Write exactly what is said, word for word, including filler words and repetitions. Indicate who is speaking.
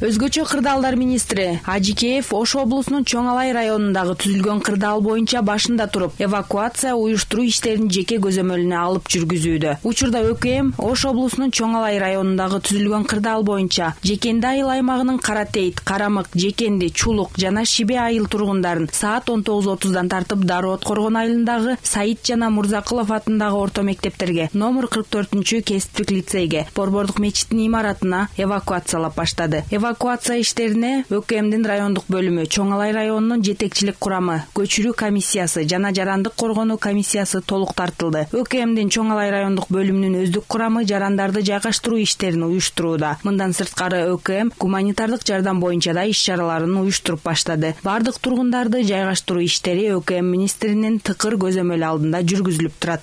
Speaker 1: Өзгөчө кырдаалдар министри Ажикеев Ош облусунун Чоң Алай районундагы түзүлгөн кырдаал боюнча башында туруп, эвакуация уюштуруу иштерин жеке көзөмөлүнө алып жүргүзүүдө. Учурда ÖКМ Ош облусунун Чоң Алай районундагы түзүлгөн кырдаал боюнча Жекенди айыл аймагынын Каратейт, Карамык, Жекенди, Чулук жана Шибе айыл тургундарын саат он тогуз отуздан тартып Дароо Откоргон айылындагы Саид жана Мурзакулов атындагы орто мектептерге, номер кырк төртүнчү кесиптик лицейге, Борбордук мечиттин имаратына эвакуациялап баштады. Эвакуация иштерине ÖКМдин райондук бөлүмү, Чоң Алай районунун жетекчилик курамы, көчүрүү комиссиясы жана жарандык коргонуу комиссиясы толук тартылды. ÖКМдин Чоң Алай райондук бөлүмүнүн өздүк курамы жарандарды жайгаштыруу иштерин уюштурууда. Мындан сырткары ÖКМ гуманитардык жардам боюнча да иш чараларын уюштуруп баштады. Бардык тургундарды жайгаштыруу иштери ÖКМ министринин тыкыр көзөмөлү алдында жүргүзүлүп турат.